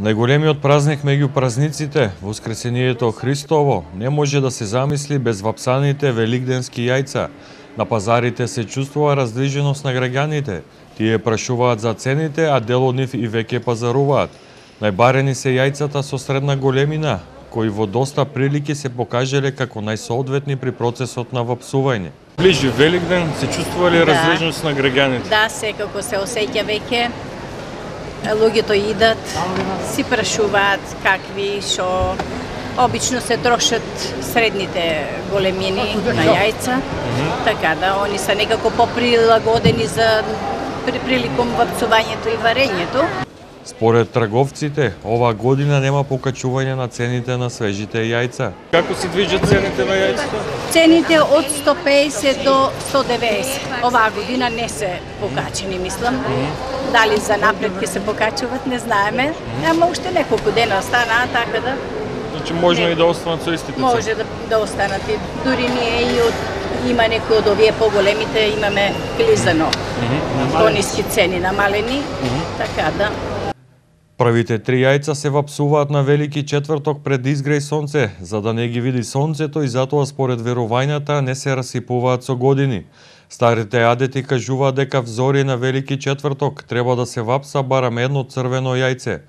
Најголемиот празник меѓу празниците, Воскресението Христово, не може да се замисли без вапсаните великденски јајца. На пазарите се чувствува раздвиженост на граѓаните. Тие прашуваат за цените, а дел од нив и веќе пазаруваат. Најбарени се јајцата со средна големина, кои во доста прилики се покажале како најсоодветни при процесот на вапсување. Ближи Великден, се чувствува ли раздвиженост на граѓаните? Да, секако се осеќа веќе. Луѓето идат, си прашуваат какви, шо. Обично се трошат средните големини на јајца, така да они се некако поприлагодени за приликом вапцувањето и варењето. Според трговците, оваа година нема покачување на цените на свежите јајца. Како се движат цените на јајцата? Цените од 150 до 190. Оваа година не се покачени, мислам. Дали за напред ќе се покачуваат, не знаеме. Ама уште неколку дена останаа, така да... Значи можно и да останат со истите цени? Може да останат и дури ние и има некои од овие поголемите, имаме клизано по-ниски цени намалени, така да... Првите 3 јајца се вапсуваат на Велики четврток пред изгреј сонце, за да не ги види сонцето и затоа според верувањата не се расипуваат со години. Старите адети кажуваат дека взори на Велики четврток треба да се вапса барам едно црвено јајце.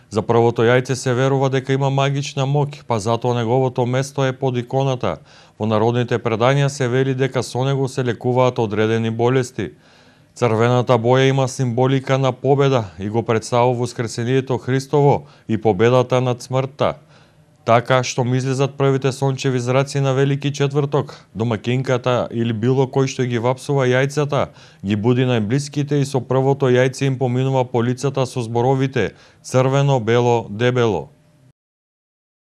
За првото јајце се верува дека има магична моќ, па затоа неговото место е под иконата. Во народните предања се вели дека со него се лекуваат одредени болести. Црвената боја има символика на победа и го представува Воскресението Христово и победата над смртта. Така што излезат првите сончеви зраци на Велики четврток, домакинката или било кој што ги вапсува јајцата, ги буди најблиските и со првото јајце им поминува по лицата со зборовите црвено, бело, дебело.